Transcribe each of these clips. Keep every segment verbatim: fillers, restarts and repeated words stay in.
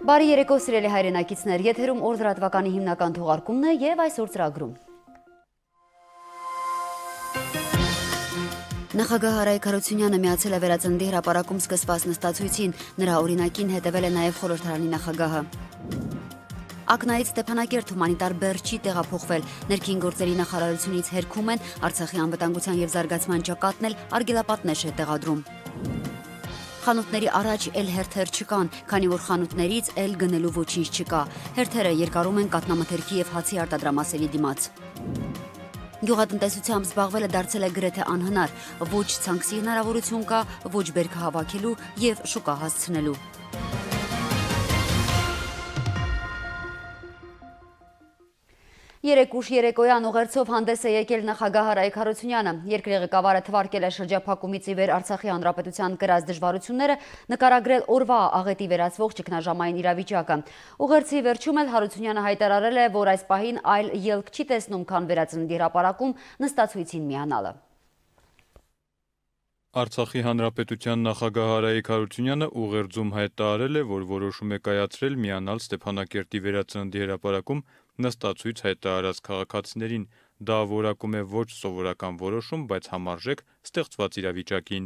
Բարի երեկո սիրելի հայրենակիցներ, եթերում օր լրատվականի հիմնական թողարկումն է եւ այսօր ծրագրում։ Նախագահ Արայիկ Հարությունյանը միացել է Վերածննդի հրապարակում սկսված նստածույցին, նրա օրինակին հետևել է նաեւ խորհրդարանի նախագահը։ Ակնայից Ստեփանակերտ հումանիտար բեռ չի տեղափոխվել, ներքին գործերի նախարարությունից հերքում են Արցախի անվտանգության եւ զարգացման ճակատն էլ արգելապատնեշ է տեղադրում։ Խանութների առաջ էլ հերթեր չկան, քանի որ խանութներից էլ գնելու ոչինչ չկա։ Հերթերը երկարում են կաթնամթերքի եւ հացի արտադրամասերի դիմաց։ Գյուղատնտեսությամբ զբաղվելը դարձել է գրեթե անհնար, ոչ ցանքսի հնարավորություն կա, ոչ բերքը հավաքելու եւ շուկա հասցնելու։ Երեք ուշ երեկոյան ուղերձով հանդես է եկել նախագահ Արայիկ Հարությունյանը։ Երկրի ղեկավարը թվարկել է շրջափակումից ի վեր Արցախի հանրապետության կրած դժվարությունները, նկարագրել օրվա աղետի վերածվող ճգնաժամային իրավիճակը։ Ուղերձի վերջում էլ Հարությունյանը հայտարարել է, որ այս պահին այլ ելք չի տեսնում, քան Վերածննդի հրապարակում նստածույցին միանալը։ Արցախի հանրապետության նախագահ Արայիկ Հարությունյանը ուղերձում հայտարարել է, որ որոշում է կայացրել միանալ Ստեփանակերտի Վերածննդի հրապարակում նստածույց հայտարարած քաղաքացիներին։ Դա որակում է ոչ սովորական որոշում, բայց համարժեք ստեղծված իրավիճակին։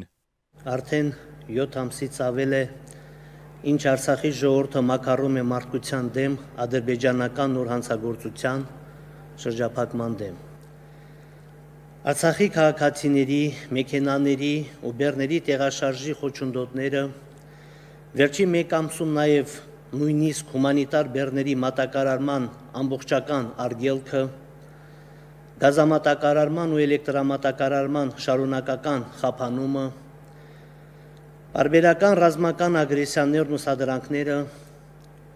Արդեն յոթ ամսից ավել է, ինչ Արցախի ժողովուրդը մաքարում է մարդկության դեմ ադրբեջանական նոր հանցագործության շրջափակման դեմ։ Արցախի քաղաքացիների, մեքենաների ու բեռների տեղաշարժի խոչընդոտները, վերջի մեկ ամսում նաև նույնիսկ հումանիտար բեռների մատակարարման ամբողջական արգելքը, գազամատակարարման ու էլեկտրամատակարարման շարունակական խափանումը, պարբերական ռազմական ագրեսիաներն ու սադրանքները,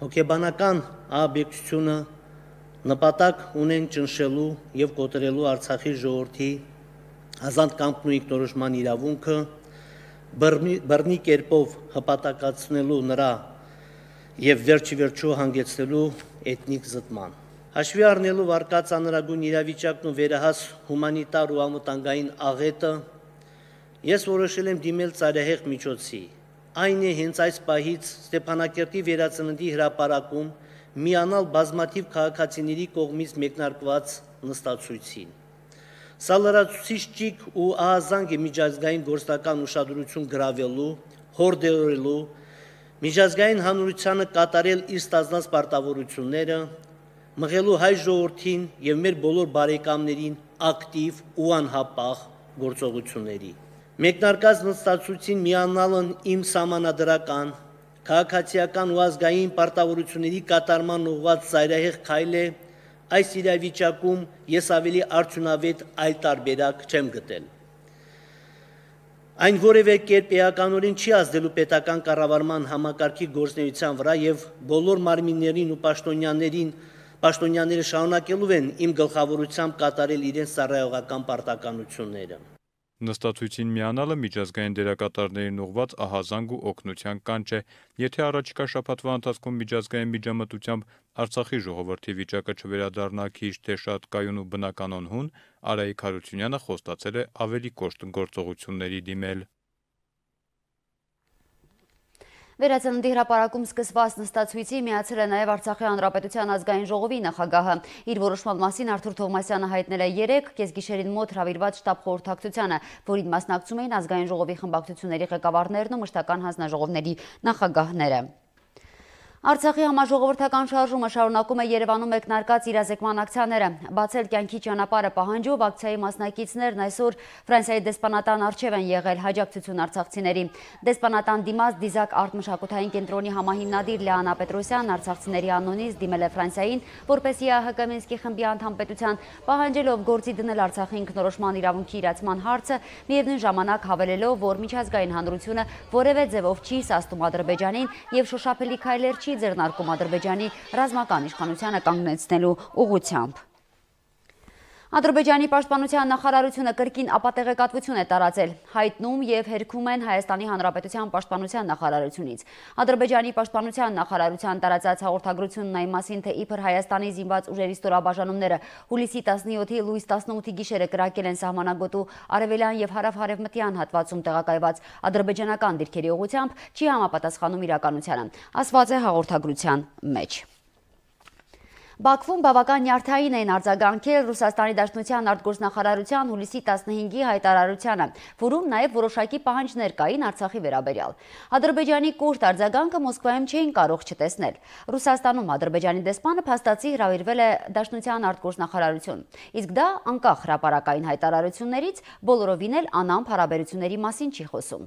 հոգեբանական ահաբեկչությունը նպատակ ունեն ճնշելու եւ կոտրելու Արցախի ժողովրդի ազատ կամքն ու ինքնորոշման իրավունքը, բռնի կերպով հպատակացնելու նրա եւ վերջի վերջո հանգեցնելու էթնիկ զտման։ Հաշվի առնելով արկած անհրաժեշտ իրավիճակն ու վերահաս հումանիտար ու անվտանգային աղետը, ես որոշել եմ դիմել ծայրահեղ միջոցի։ Այն է հենց այս պահից Ստեփանակերտի Վերածննդի հրապարակում միանալ բազմաթիվ քաղաքացիների կողմից մեկնարկված նստածույցին։ Սա լրացուցիչ ճիգ ու ահազանգ է միջազգային գործնական ուշադրություն գրավելու, հորդորելու, միջազգային հանրությանը կատարել իր ստանձնած պարտավորությունները, մղելու հայ ժողովրդին եւ մեր բոլոր բարեկամներին ակտիվ ու անհապաղ գործողությունների։ Մեկնարկած նստածույցին միանալն իմ սահմանադրական, քաղաքացիական ու ազգային պարտավորությունների կատարման ուղղված ծայրահեղ քայլ է, այս իրավիճակում ես ավելի արդյունավետ այլ տարբերակ չեմ գտել։ Այն որևէ կերպ էականորեն չի ազդելու պետական կառավարման համակարգի գործունեության վրա եւ բոլոր մարմիններին ու պաշտոնյաներին պաշտոնյաները շարունակելու են իմ գլխավորությամբ կատարել իրենց ծառայողական պարտականությունները։ Նստածույցին միանալը միջազգային դերակատարներին ուղղված ահազանգ ու օգնության կանչ է։ Եթե առաջիկա շաբաթվա ընթացքում միջազգային միջամտությամբ Արցախի ժողովրդի վիճակը չվերադառնա քիչ թե շատ կայուն ու բնականon հուն, Արայիկ Հարությունյանը խոստացել է ավելի կոշտ գործողությունների դիմել։ Վերածննդի հրապարակում սկսված նստածույցի միացել է նաև Արցախի հանրապետության ազգային ժողովի նախագահը։ Իր որոշման մասին Արթուր Թովմասյանը հայտնել է երեկ կեսգիշերին մոտ հրավիրված շտաբ խորհրդակցությանը, որին մասնակցում էին ազգային ժողովի խմբակցությունների ղեկավարներն ու մշտական հանձնաժողովների նախագահները։ Արցախի համաժողովրդական շարժումը շարունակում է Երևանում մեկնարկած իրազեկման ակցիաները։ Բացել կյանքի ճանապարհը պահանջով ակցիայի մասնակիցներն այսօր Ֆրանսիայի դեսպանատան առջև են եղել հաջակցություն արցախցիների։ Դեսպանատան դիմաց Դիզակ արտ-մշակութային կենտրոնի համահիմնադիր Լեանա Պետրոսյանն արցախցիների անունից դիմել է Ֆրանսիային, որպեսզի ՀՀԿ Մինսկի խմբի անդամ պետության պահանջելով գործի դնել Արցախի ինքնորոշման իրավունքի իրացման հարցը, միևնույն ժամանակ հավելելով, որ միջազգային հանրությունը որևէ ձևով չի սաստում Ադրբեջանին եւ շոշափելի քայլեր չի ձեռնարկում Ադրբեջանի ռազմական իշխանությանը կանգնեցնելու ուղղությամբ։ Ադրբեջանի պաշտպանության նախարարությունը կրկին ապատեղեկատվություն է տարածել, հայտնում եւ հերքում են Հայաստանի Հանրապետության պաշտպանության նախարարությունից։ Ադրբեջանի պաշտպանության նախարարության տարածած հաղորդագրությունն այն մասին, թե իբր Հայաստանի զինված ուժերի ստորաբաժանումները հուլիսի տասնյոթի լույս տասնութի գիշերը կրակել են սահմանագոտու արևելյան եւ հարավ-հարևմտյան հատվածում տեղակայված ադրբեջանական դիրքերի ուղղությամբ, չի համապատասխանում իրականությանը, ասված է հաղորդագրության մեջ։ Բաքվում բավական նյարդային էին արձագանքել Ռուսաստանի Դաշնության արտգործնախարարության հուլիսի տասնհինգի հայտարարությանը, որում նաև որոշակի պահանջներ կային Արցախի վերաբերյալ։ Ադրբեջանի կուրտ արձագանքը Մոսկվայում չէին կարող չտեսնել։ Ռուսաստանում Ադրբեջանի դեսպանը փաստացի հրավիրվել է Դաշնության արտգործնախարարություն, իսկ դա անկախ հրապարակային հայտարարություններից բոլորովին էլ անամփ հարաբերությունների մասին չի խոսում։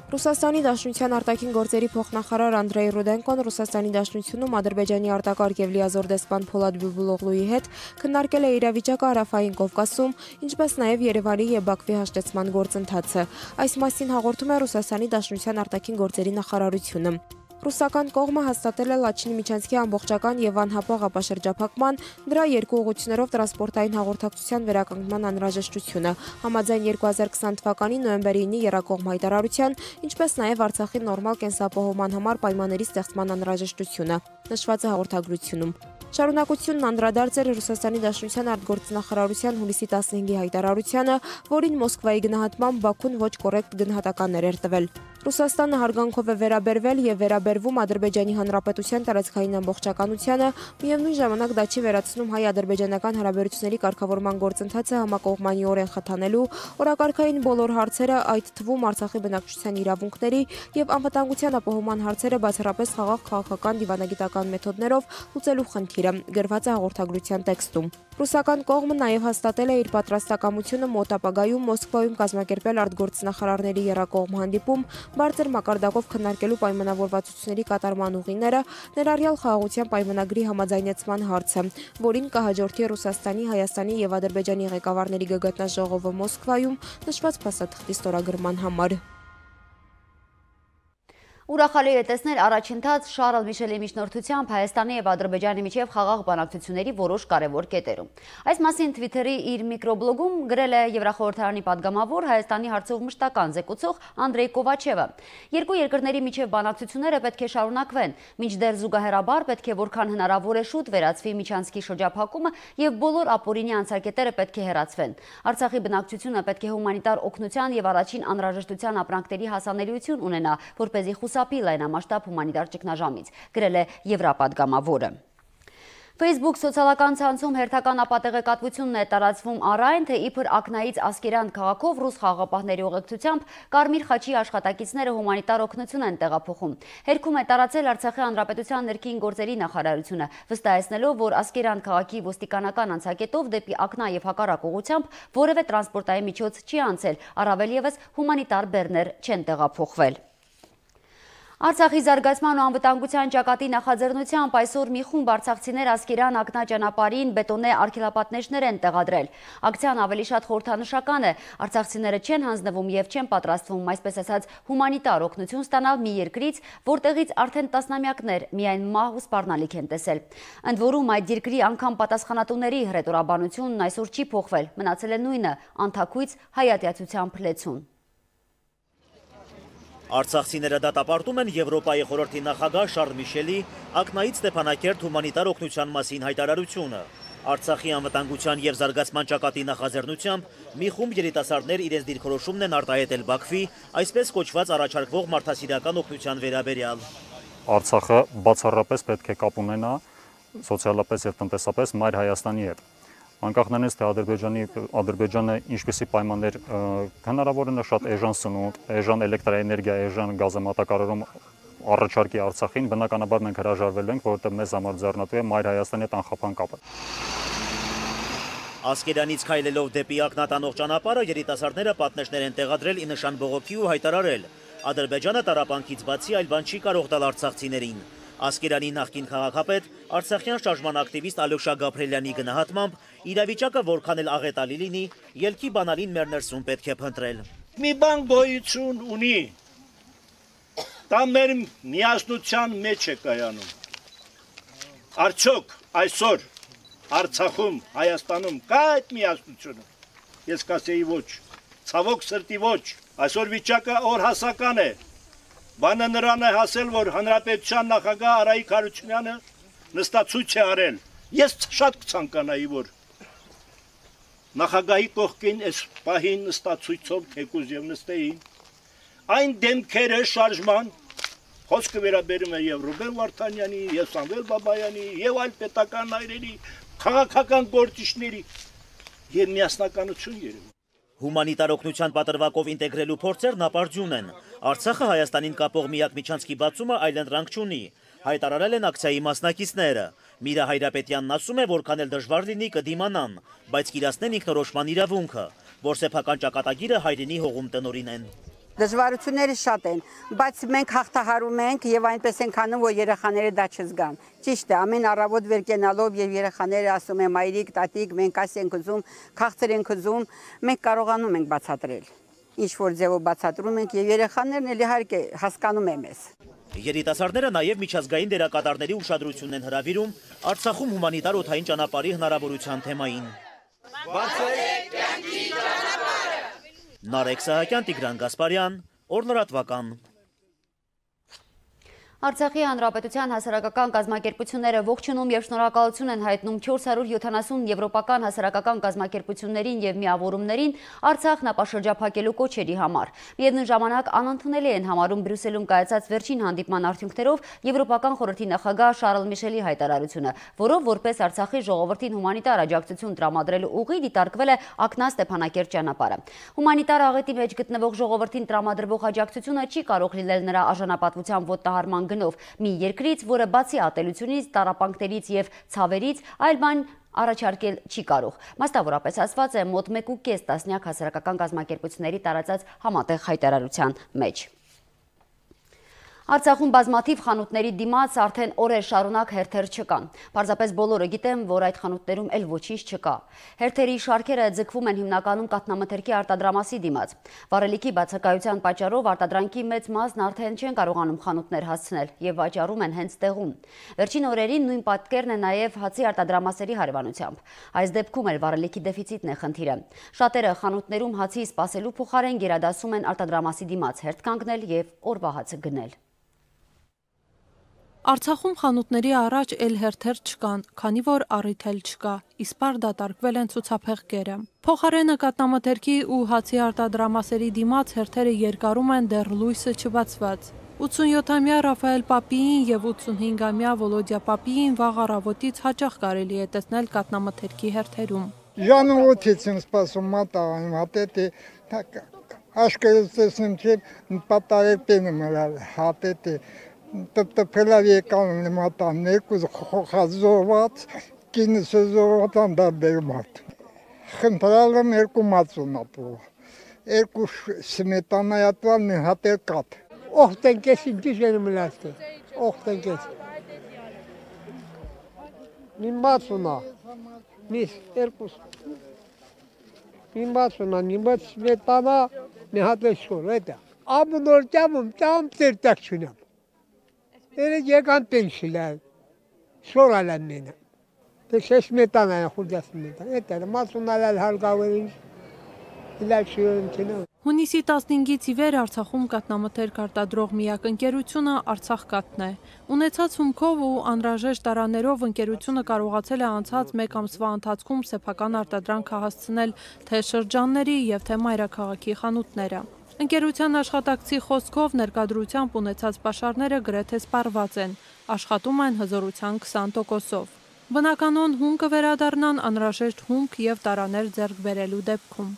Ռուսաստանի Դաշնության արտաքին գործերի փոխնախարար Անդրեյ Ռուդենկոն Ռուսաստանի Դաշնությունում Ադրբեջանի արտակարգ եւ լիազոր դեսպան Փոլադ Բիբուլօղլուի հետ քննարկել է իրավիճակը Հարավային Կովկասում, ինչպես նաեւ Երևանի եւ Բաքվի հաշտեցման գործընթացը։ Այս մասին հաղորդում է Ռուսաստանի Դաշնության արտաքին գործերի նախարարությունը։ Ռուսական կողմը հաստատել է Լաչինի միջանցքի ամբողջական եւ անհապաղ ապաշրջափակման, դրա երկու ուղղություններով տրանսպորտային հաղորդակցության վերականգնման անհրաժեշտությունը, համաձայն երկու հազար քսան թվականի նոյեմբերի ինի եռակողմ հայտարարության, ինչպես նաեւ Արցախի նորմալ կենսապահովման համար պայմանների ստեղծման անհրաժեշտությունը, նշված է հաղորդագրությունում։ Շարունակությունն անդրադարձ էր Ռուսաստանի Դաշնության արտգործնախարարության հուլիսի տասնհինգի հայտարարությանը, որին Մոսկվայի գնահատմամբ Բաքուն ոչ կոռեկտ գնահատականներ էր տվել։ Ռուսաստանը հարգանքով է վերաբերվել եւ վերաբերվում Ադրբեջանի Հանրապետության տարածքային ամբողջականությանը, միևնույն ժամանակ դա չի վերացնում հայ-ադրբեջանական հարաբերությունների կարգավորման գործընթացը համակողմանիորեն խթանելու, օրակարգային բոլոր հարցերը, այդ թվում Արցախի բնակչության իրավունքների եւ անվտանգության ապահովման հարցերը բացառապես խաղաղ քաղաքական դիվանագիտական մեթոդներով լուծելու խնդիրը, գրված է հաղորդագրության տեքստում։ Ռուսական կողմը նաև հաստատել է իր պատրաստակամությունը մոտ ապագայում Մոսկվայում կազմակերպել արտգործնախարարների եռակողմ հանդիպում, բարձր մակարդակով քննարկելու պայմանավորվածությունների կատարման ուղիները, ներառյալ խաղաղության պայմանագրի համաձայնեցման հարցը, որին կհաջորդի Ռուսաստանի, Հայաստանի եւ Ադրբեջանի ղեկավարների գագաթնաժողովը Մոսկվայում, նշված փաստաթղթի ստորագրման համար։ Ուրախալի է տեսնել առաջընթաց Շարլ Միշելի միջնորդությամբ Հայաստանի եւ Ադրբեջանի միջև խաղաղ բանակցությունների որոշ կարևոր կետերում։ Այս մասին Twitter-ի իր միկրոբլոգում գրել է Եվրախորհրդարանի падգամավոր Հայաստանի հարցով մշտական զեկուցող Անդրեյ Կովաչևը։ Երկու երկրների միջև բանակցությունները պետք է շարունակվեն, մինչդեռ զուգահեռաբար պետք է որքան հնարավոր է շուտ վերացվի միջանցքի շրջափակումը եւ բոլոր ապօրինի անցակետերը պետք է հեռացվեն։ Արցախի բնակչությունը պետք է հումանիտար օգնության եւ առաջին անհրաժեշտության ապրանքների հասանելիություն ունենա, որպեսզի խուսափի լայնամասշտաբ հումանիտար ճգնաժամից, գրել է Եվրապադգամավորը։ Facebook սոցիալական ցանցում հերթական ապատեղեկատվությունն է տարածվում առ այն, թե իբր Ակնայից Ասկերան քաղաքով ռուս խաղաղապահների ուղեկցությամբ Կարմիր խաչի աշխատակիցները հումանիտար օգնություն են տեղափոխում։ Հերքում է տարածել Արցախի Հանրապետության ներքին գործերի նախարարությունը, վստահեցնելով, որ Ասկերան քաղաքի ոստիկանական անցակետով դեպի Ակնա եւ հակառակ ուղղությամբ որևէ տրանսպորտային միջոց չի անցել, առավել եւս հումանիտար բեռներ չեն տեղափոխվել։ Արցախի զարգացման ու անվտանգության ճակատի նախաձեռնությամբ այսօր մի խումբ արցախցիներ Ասկերան Ակնա ճանապարհին բետոնե արգելապատնեշներ են տեղադրել։ Ակցիան ավելի շատ խորհրդանշական է, արցախցիները չեն հանձնվում եւ չեն պատրաստվում, այսպես ասած, հումանիտար օգնություն ստանալ մի երկրից, որտեղից արդեն տասնամյակներ միայն մահ ու սպառնալիք են տեսել։ Ընդ որում այդ երկրի անգամ պատասխանատուների հռետորաբանությունն այսօր չի փոխվել, մնացել է նույնը՝ անթաքույց հայատյացության փլեցուն։ Արցախցիները դատապարտում են Եվրոպայի խորհրդի նախագահ Շարլ Միշելի Ակնայից Ստեփանակերտ հումանիտար օգնության մասին հայտարարությունը։ Արցախի անվտանգության եւ զարգացման ճակատի նախաձեռնությամբ մի խումբ երիտասարդներ իրենց դիրքորոշումն են արտահայտել Բաքվի, այսպես կոչված առաջարկվող մարդասիրական օգնության վերաբերյալ։ Արցախը բացառապես պետք է կապ ունենա սոցիալապես եւ տնտեսապես Մայր Հայաստանի հետ։ Անկախ նրանից, թե Ադրբեջանի Ադրբեջանը ինչպիսի պայմաններ հնարավոր է շատ էժան սնունդ, էժան էլեկտրաէներգիա, էժան գազամատակարարում առաջարկի Արցախին, բնականաբար մենք հրաժարվել ենք, որովհետև մեզ համար ձեռնատու է Մայր Հայաստանի հետ անխափան կապը։ Ասկերանից քայլելով դեպի Ակնա տանող ճանապարհը երիտասարդները պատնեշներ են տեղադրել ի նշան բողոքի ու հայտարարել. Ադրբեջանը տառապանքից բացի այլ բան չի կարող տալ արցախցիներին։ Ասկերանի նախկին քաղաքապետ, արցախյան շարժման ակտիվիստ Ալյոշա Գաբրելյանի գնահատմամբ իրավիճակը որքան էլ աղետալի լինի, ելքի բանալին մեր ներսում պետք է փնտրել։ Մի բան գոյություն ունի, դա մեր միասնության մեջ է կայանում։ Արդյոք այսօր Արցախում, Հայաստանում կա այդ միասնությունը։ Ես կասեի ոչ, ցավոք սրտի ոչ, այսօր վիճակը օրհասական է։ Բանը նրան է հասել, որ Հանրապետության նախագահ Արայիկ Հարությունյանը նստացույց է արել։ Ես շատ կցանկանայի, որ նախագահի կողքին այս պահին նստացույցով թեկուզ եւ նստեին այն դեմքերը շարժման խոսքը վերաբերում է եւ Ռուբեն Վարդանյանի, եւ Սամվել Բաբայանի, եւ այլ պետական այրերի, քաղաքական գործիչների եւ միասնականություն երևում։ Հումանիտար օգնության պատրվակով ինտեգրելու փորձերն ապարդյուն են։ Արցախը Հայաստանին կապող միակ միջանցքի բացումը այլընտրանք չունի, հայտարարել են ակցիայի մասնակիցները։ Միրա Հայրապետյանն ասում է, որքան էլ դժվար լինի կդիմանան, բայց կիրացնեն ինքնորոշման իրավունքը, որ սեփական ճակատագիրը հայրենի հողում տնօրինեն։ Դժվարությունները շատ են, բայց մենք հաղթահարում ենք եւ այնպես ենք անում, որ երեխաները դա չզգան։ Ճիշտ է, ամեն առավոտ վեր կենալով եւ երեխաները ասում են մայրիկ, տատիկ, մենք այս ենք ուզում, քաղցր ենք ուզում, մենք կարողանում ենք բացատրել։ Ինչ որ ձևով բացատրում ենք եւ երեխաներն էլ իհարկե հասկանում են մեզ։ Երիտասարդները նաև միջազգային դերակատարների ուշադրությունն են հրավիրում Արցախում հումանիտար օդային ճանապարհի հնարավորության թեմային։ Բացեք կյանքի ճանապարհը։ Նարեկ Սահակյան, Տիգրան Գասպարյան, Օրլրատվական։ Արցախի Հանրապետության հասարակական կազմակերպությունները ողջունում եւ շնորհակալություն են հայտնում չորս հարյուր յոթանասուն եվրոպական հասարակական կազմակերպություններին եւ միավորումներին Արցախն ապաշրջափակելու կոչերի համար։ Միևնույն ժամանակ անընդունելի են համարում Բրյուսելում կայացած վերջին հանդիպման արդյունքներով Եվրոպական խորհրդի նախագահ Շարլ Միշելի հայտարարությունը, որով որպես Արցախի ժողովրդին հումանիտար աջակցություն տրամադրելու ուղի դիտարկվել է Ակնա Ստեփանակերտ ճանապարհը։ Հումանիտար աղետի մեջ գտնվող ժողովրդին տրամադրվող աջակցությունը չի կարող լինել նրա արժանապատվության ոտնահարման գնով մի երկրից, որը բացի ատելությունից, տառապանքներից եւ ցավերից այլ բան առաջարկել չի կարող։ Մասնավորապես ասված է մոտ մեկ ու կես տասնյակ հասարակական կազմակերպությունների տարածած համատեղ հայտարարության մեջ։ Արցախում բազմաթիվ խանութների դիմաց արդեն օրեր շարունակ հերթեր չկան։ Պարզապես բոլորը գիտեն, որ այդ խանութներում էլ ոչինչ չկա։ Հերթերի շարքերը ձգվում են հիմնականում կաթնամթերքի արտադրամասի դիմաց։ Վառելիքի բացակայության պատճառով արտադրանքի մեծ մասն արդեն չեն կարողանում խանութներ հասցնել եւ վաճառում են հենց տեղում։ Վերջին օրերին նույն պատկերն է նաեւ հացի արտադրամասերի հարևանությամբ։ Այս դեպքում էլ վառելիքի դեֆիցիտն է խնդիրը։ Շատերը խանութներում հացի սպասելու փոխարեն գերադասում են արտադրամասի դիմաց հերթ կանգնել եւ օրվա հացը գնել։ Արցախում խանութների առաջ էլ հերթեր չկան, քանի որ առիթ էլ չկա, իսպար դատարկվել են ցուցափեղկերը։ Փոխարենը կաթնամթերքի ու հացի արտադրամասերի դիմաց հերթերը երկարում են դեռ լույսը չբացված։ ութսունյոթամյա Ռաֆայել Պապիին եւ ութսունհինգամյա Վոլոդիա Պապիին վաղ առավոտից հաճախ կարելի է տեսնել կաթնամթերքի հերթերում։ Ժանուոտից եմ սպասում մատաղան, հատետի աշկերս տեսնում չէ պատարեպեն մրալ, հատետի տպտպելավ եկան մատան, ներկուզ խոխազոված, կինս զոված անդարդեր մարդ։ Խնդրալ եմ երկու մածուն ապրով, երկու սմետանայատվան մի հատեր կատ։ Օղտենքես ինքիս են մլաստը, օղտենքես։ Մի մածունա, միս երկուս։ Մի մածունա, մի մած սմետանա, մի հատեր շոր, էտա։ Ամնոր ճամում, ճամ տերտակ չունեմ։ Ele եկան պենշիլալ, շորալ են մենը։ Դե շեշ մետան այն խուրջաս մետան, էտ էր մասունալալ հալգավերին, իլալ շիրոն չնա։ Հունիսի տասնհինգից ի վեր Արցախում կաթնամթերք արտադրող միակ ընկերությունը Արցախ կաթն է։ Ունեցած հումքով ու անհրաժեշտ տարաներով ընկերությունը կարողացել է անցած մեկ ամսվա ընթացքում սեփական արտադրանքը հասցնել թե շրջանների եւ թե մայրաքաղաքի խանութները։ Ընկերության աշխատակցի խոսքով ներկայդրությամբ ունեցած պաշարները գրեթե սպառված են, աշխատում են հզորության քսան տոկոսով։ Բնականon հումքը վերադառնան անհրաժեշտ հումք եւ տարաներ ձեռք բերելու դեպքում։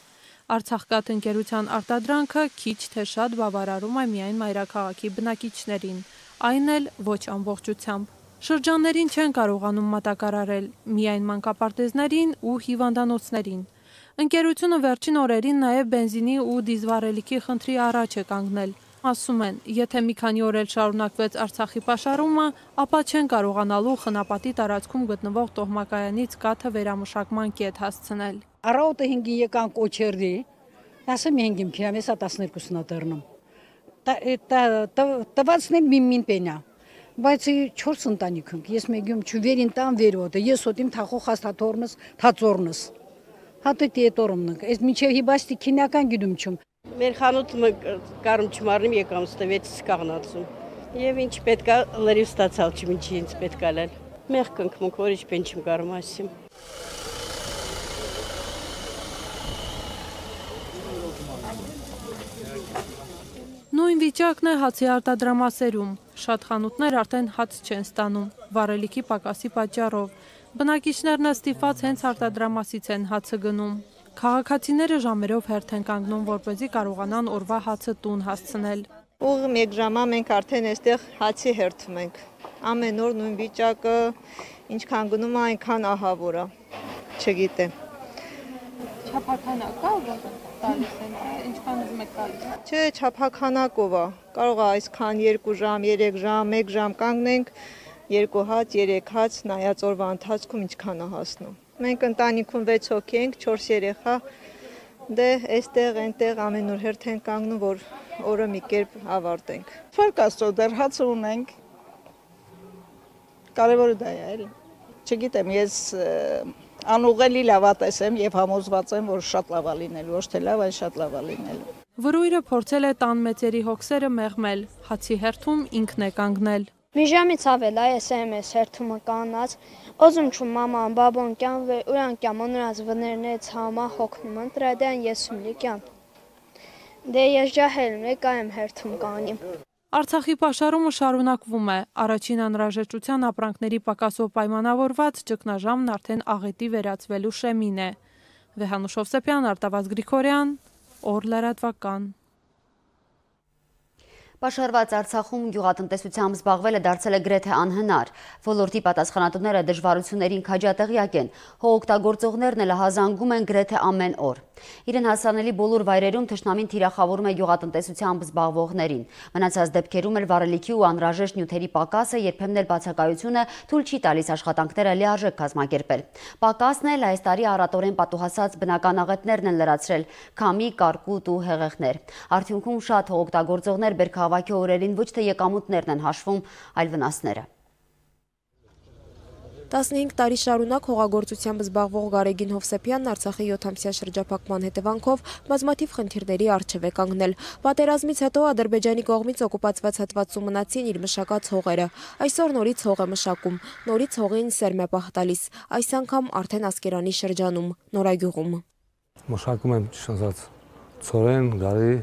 Արցախկաթ ընկերության արտադրանքը քիչ թե շատ բավարարում է միայն մայրաքաղաքի բնակիչներին, այն էլ ոչ ամբողջությամբ։ Շրջաններին չեն կարողանում մատակարարել, միայն մանկապարտեզներին ու հիվանդանոցներին։ Ընկերությունը վերջին օրերին նաև բենզինի ու դիզվառելիքի խնդրի առաջ է կանգնել։ Ասում են, եթե մի քանի օր էլ շարունակվեց Արցախի պաշարումը, ապա չեն կարողանալու Խնապատի տարածքում գտնվող տոհմակայանից կաթը վերամշակման կետ հասցնել։ Առավոտը հինգին եկան կոչերդի, ասեմ հինգին քիլոմետր տասներկուսն ատերնում։ Տվացնեմ միմին պենա։ բայց չորս ընտանիք ենք, ես մեգյում չվերին տան վերոտը, ես ոտիմ թախող հաստաթորնս, թածորնս, հատը տետորումնք, ես միջև հիբաստի քինական գիդում չում։ Մեր խանութը կարում չմարնիմ եկամ ստվեցից կաղնացում, և ինչ պետքա լրիվ ստացալ չմ ինչի ինձ պետքա լել, մեղ կնքմունք, որ ինչ պեն չմ կարում ասիմ։ Նույն վիճակն է հացի արտադրամասերում, շատ խանութներ արդեն հաց չեն ստանում, վառելիքի պակասի պատճառով, բնակիչներն ստիպված հենց արտադրամասից են հացը գնում։ Քաղաքացիները ժամերով հերթ են կանգնում, որպեսզի կարողանան օրվա հացը տուն հասցնել։ Ուղ մեկ ժամա մենք արդեն այստեղ հացի հերթում ենք, ամեն օր նույն վիճակը, ինչքան գնում է, այնքան ահավոր է, չգիտեմ։ Չափաքանակ կա, որ տալիս են, ինչքան ուզում եք տալիս։ Չէ, չափաքանակով է, կարող է այսքան երկու ժամ, երեք ժամ, մեկ ժամ կանգնենք, երկու հաց, երեք հաց, նայած օրվա ընթացքում ինչքան է հասնում։ Մենք ընտանիքում վեց հոգի ենք, չորս երեխա, դե այստեղ, այնտեղ ամեն օր հերթ են կանգնում, որ օրը մի կերպ ավարտենք։ Փառք Աստծո, դեռ հացը ունենք։ Կարևորը դա է, էլի։ Չգիտեմ, ես անուղելի լավատես եմ եւ համոզված եմ, որ շատ լավ է լինելու, ոչ թե լավ, այլ շատ լավ է լինելու։ Վրույրը փորձել է տան մեծերի հոգսերը մեղմել, հացի հերթում ինքն է կանգնել։ Մի ժամից ավել է ես եմ ես հերթումը կանած, օզում չում մաման, բաբոն կյան, ուրան կյան,ոնրած վներնեց համա հոգնում են, տրադյան եսում լի կյան։ Դե ես ջահելում է կայեմ հերթում կանիմ։ Արցախի պաշարումը շարունակվում է, առաջին անհրաժեշտության ապրանքների պակասով պայմանավորված ճգնաժամն արդեն աղետի վերածվելու շեմին է։ Վեհանուշ Հովսեփյան, Արտավազդ Գրիգորյան, օր լրատվական։ Պաշարված Արցախում գյուղատնտեսությամբ զբաղվելը դարձել է գրեթե անհնար։ Ոլորտի պատասխանատուները դժվարություններին քաջատեղյակ են, հողօգտագործողներն էլ հազանգում են գրեթե ամեն օր։ Իրեն հասանելի բոլոր վայրերում թշնամին թիրախավորում է գյուղատնտեսությամբ զբաղվողներին։ Մնացած դեպքերում էլ վառելիքի ու անհրաժեշտ նյութերի պակասը, երբեմն էլ բացակայությունը թույլ չի տալիս աշխատանքները լիարժեք կազմակերպել։ Պակասն էլ այս տարի առատորեն պատուհասած բնական աղետներն են լրացրել՝ քամի, կարկուտ ու հեղեղներ։ Արդյունքում շատ հողօգտագործողներ բերքահավաքի օրերին ոչ թե եկամուտներն են հաշվում, այլ վնասները։ տասնհինգ տարի շարունակ հողագործությամբ զբաղվող Գարեգին Հովսեփյանն Արցախի յոթամսյա շրջափակման հետևանքով բազմաթիվ խնդիրների առջև է կանգնել։ Պատերազմից հետո Ադրբեջանի կողմից օկուպացված հատվածում մնացին իր մշակած հողերը։ Այսօր նորից հող է մշակում, նորից հողին սերմ է պահտալիս, այս անգամ արդեն Ասկերանի շրջանում, Նորագյուղում։ Մշակում եմ շնչած ցորեն, գարի,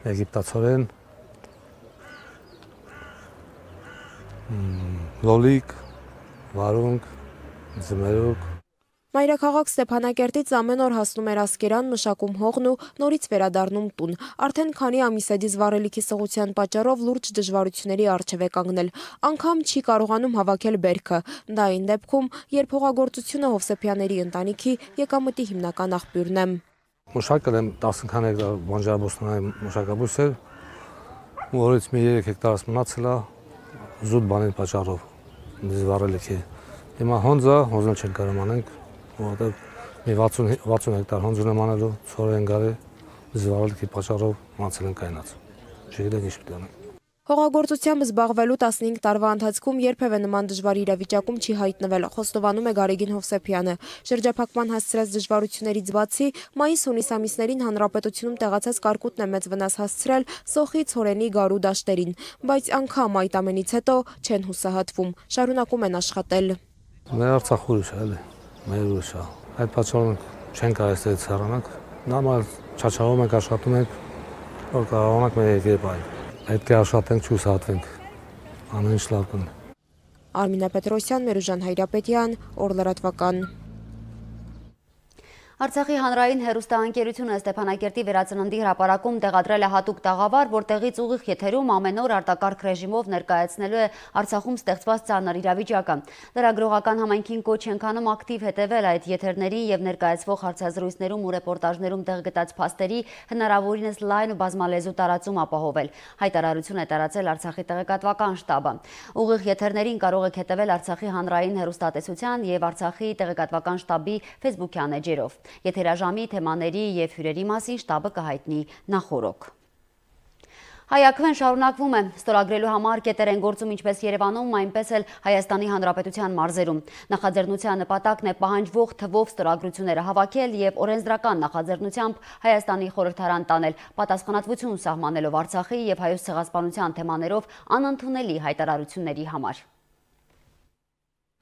եգիպտացորեն, լոլիկ, վարունգ, ձմերուկ։ Մայրաքաղաք Ստեփանակերտից ամեն օր հասնում էր Ասկերան, մշակում հողն ու նորից վերադառնում տուն։ Արդեն քանի ամիս է դիզվառելիքի սղության պատճառով լուրջ դժվարությունների առջև է կանգնել։ Անգամ չի կարողանում հավաքել բերքը։ Դա այն դեպքում, երբ հողագործությունը Հովսեփյանների ընտանիքի եկամտի հիմնական աղբյուրն է։ Մշակել եմ տասնքան հեկտար բանջարաբոստանային մշակաբույսեր, որից մի երեք հեկտարս մնացել է զուտ բանի պատճառով դիզվառելիքի։ Հիմա հոնձը, հոնձն չենք կարող անենք, որովհետև մի վաթսուն հեկտար հոնձ ունեմ անելու, ցորեն գարի դիզվառելիքի պատճառով մնացել են կայնած։ Չգիտենք ինչ պետք է անենք։ Հողագործությամբ զբաղվելու տասնհինգ տարվա ընթացքում երբևէ նման դժվար իրավիճակում չի հայտնվել, խոստովանում է Գարեգին Հովսեփյանը։ Շրջափակման հասցրած դժվարություններից բացի, մայիս-հունիս ամիսներին հանրապետությունում տեղացած կարկուտն է մեծ վնաս հասցրել սոխի, ցորենի, գարու դաշտերին, բայց անգամ այդ ամենից հետո չեն հուսահատվում, շարունակում են աշխատել։ Մեր Արցախ ուրիշ է, էլի, մեր ուրիշ է։ Այդ պատճառով չենք կարող այստեղից հեռանալ, նորմալ չաչաղում ենք, աշխատում ենք, որ կարողանանք մեր երկիրը Պետք է աշխատենք, չուսահատվենք, ամեն ինչ լավ կն։ Արմինե Պետրոսյան, Մերուժան Հայրապետյան, օր լրատվական։ Արցախի հանրային հեռուստաընկերությունը Ստեփանակերտի վերածննդի հրապարակում տեղադրել է հատուկ տաղավար, որտեղից ուղիղ եթերում ամեն օր արտակարգ ռեժիմով ներկայացնելու է Արցախում ստեղծված ծանր իրավիճակը։ Լրագրողական համայնքին կոչ ենք անում ակտիվ հետևել այդ եթերների եւ ներկայացվող հարցազրույցներում ու ռեպորտաժներում տեղ գտած փաստերի հնարավորինս լայն ու բազմալեզու տարածում ապահովել։ Հայտարարություն է տարածել Արցախի տեղեկատվական շտաբը։ Ուղիղ եթերներին կարող եք հետևել Արցախի հանրային հեռուստատեսության եւ Արցախի տեղեկատվական շտաբի Facebook-յան էջերով։ Եթերաժամի թեմաների և հյուրերի մասին շտաբը կհայտնի նախօրոք։ Հայաքվեն շարունակվում է, ստորագրելու համար կետեր են գործում ինչպես Երևանում, այնպես էլ Հայաստանի Հանրապետության մարզերում։ Նախաձեռնության նպատակն է պահանջվող թվով ստորագրությունները հավաքել և օրենսդրական նախաձեռնությամբ Հայաստանի խորհրդարան տանել, պատասխանատվություն սահմանելով Արցախի և Հայոց ցեղասպանության թեմաներով անընդունելի հայտարարությունների համար։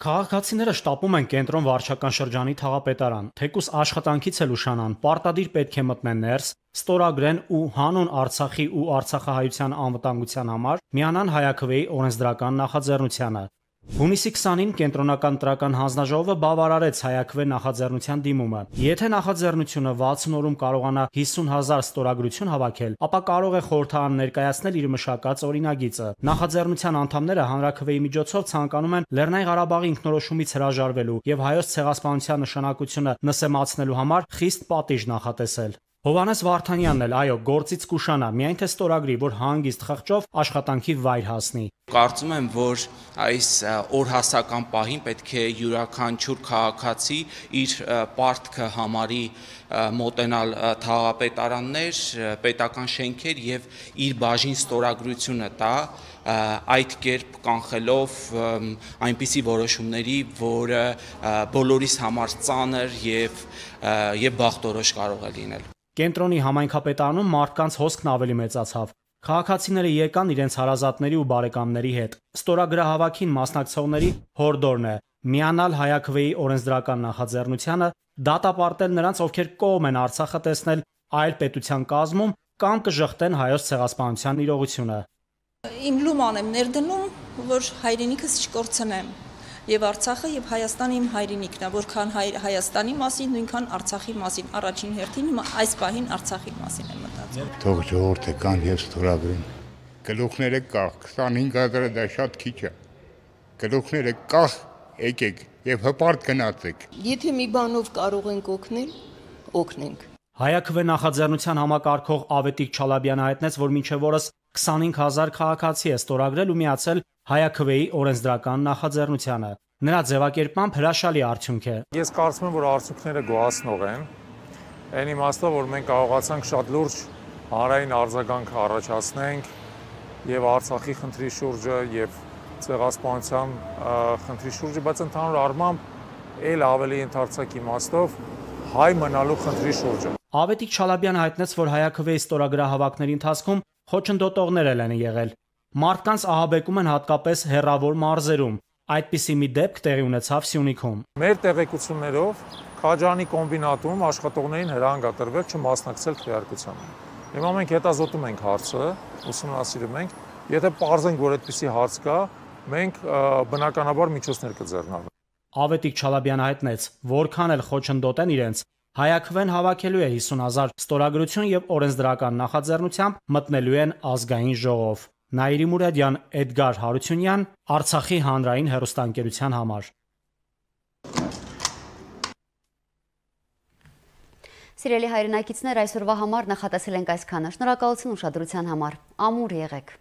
Քաղաքացիները շտապում են կենտրոն վարչական շրջանի թաղապետարան, թեկուզ աշխատանքից էլ ուշանան, պարտադիր պետք է մտնեն ներս, ստորագրեն ու հանուն Արցախի ու արցախահայության անվտանգության համար միանան Հայաքվեի օրենսդրական նախաձեռնությանը։ Հունիսի քսանին կենտրոնական ընտրական հանձնաժողովը բավարարեց Հայաքվե նախաձեռնության դիմումը։ Եթե նախաձեռնությունը վաթսուն օրում կարողանա հիսուն հազար ստորագրություն հավաքել, ապա կարող է խորհրդարան ներկայացնել իր մշակած օրինագիծը։ Նախաձեռնության անդամները հանրաքվեի միջոցով ցանկանում են Լեռնային Ղարաբաղի ինքնորոշումից հրաժարվելու եւ Հայոց ցեղասպանության նշանակությունը նսեմացնելու համար խիստ պատիժ նախատեսել։ Հովհաննես Վարդանյանն էլ այո, գործից կուշանա, միայն թե ստորագրի, որ հանգիստ խղճով աշխատանքի վայր հասնի։ Կարծում եմ, որ այս օրհասական պահին պետք է յուրաքանչյուր քաղաքացի իր պարտքը համարի մոտենալ թաղապետարաններ, պետական շենքեր եւ իր բաժին ստորագրությունը տա, այդ կերպ կանխելով այնպիսի որոշումների, որը բոլորիս համար ծանր եւ եւ բախտորոշ կարող է լինել։ Կենտրոնի համայնքապետարանում մարդկանց հոսքն ավելի մեծացավ։ Քաղաքացիները եկան իրենց հարազատների ու բարեկամների հետ։ Ստորագրահավաքին մասնակցողների հորդորն է միանալ Հայաքվեի օրենսդրական նախաձեռնությանը, դատապարտել նրանց, ովքեր կողմ են Արցախը տեսնել այլ պետության կազմում կամ կժխտեն Հայոց ցեղասպանության իրողությունը։ Իմ լուման եմ ներդնում, որ հայրենիքս չկորցնեմ։ Եվ Արցախը եւ Հայաստանը իմ հայրենիքն է, որքան Հայաստանի մասին, նույնքան Արցախի մասին, առաջին հերթին այս պահին Արցախի մասին եմ մտածում։ Թող ժողովուրդը կան եւ ստորագրեն։ Գլուխները կախ, քսանհինգ հազարը դա շատ քիչ է։ Գլուխները կախ, եկեք եւ հպարտ գնացեք։ Եթե մի բանով կարող ենք օգնել, օգնենք։ Հայաքվե նախաձեռնության համակարգող Ավետիք Չալաբյանը հայտնեց, որ մինչև օրս քսանհինգ հազար քաղաքացի է ստորագրել ու միացել Հայաքվեի օրենսդրական նախաձեռնությանը։ Նրա ձևակերպմամբ հրաշալի արդյունք է։ Ես կարծում եմ, որ արդյունքները գոհացնող են։ Այն իմաստով, որ մենք կարողացանք շատ լուրջ հանրային արձագանք առաջացնենք եւ Արցախի խնդրի շուրջը եւ ցեղասպանության խնդրի շուրջը, բայց ընդհանուր առմամբ ել ավելի ընդարձակ իմաստով հայ մնալու խնդրի շուրջը։ Ավետիք Չալաբյանը հայտնեց, որ Հայաքվեի ստորագրահավաքների ընթացքում խոչընդոտողներ են եղել։ Մարդկանց ահաբեկում են հատկապես հեռավոր մարզերում։ Այդպիսի մի դեպք տեղի ունեցավ Սյունիքում։ Մեր տեղեկություններով Քաջանի կոմբինատում աշխատողներին հրահանգատրվել չմասնակցել քվեարկությանը։ Հիմա մենք հետազոտում ենք հարցը, ուսումնասիրում ենք, եթե պարզենք, որ այդպիսի հարց կա, մենք բնականաբար միջոցներ կձեռնարկենք։ Ավետիք Չալաբյանը հայտնեց, որքան էլ խոչընդոտեն իրենց, Հայաքվեն հավաքելու է հիսուն հազար ստորագրություն եւ օրենսդրական նախաձեռնությամբ մտնելու են ազգային ժողով։ Նաիրի Մուրադյան, Էդգար Հարությունյան, Արցախի հանրային հեռուստաընկերության համար։ Սիրելի հայրենակիցներ, այսօրվա համար նախատեսել ենք այսքանը։ Շնորհակալություն ուշադրության համար։ Ամուր եղեք։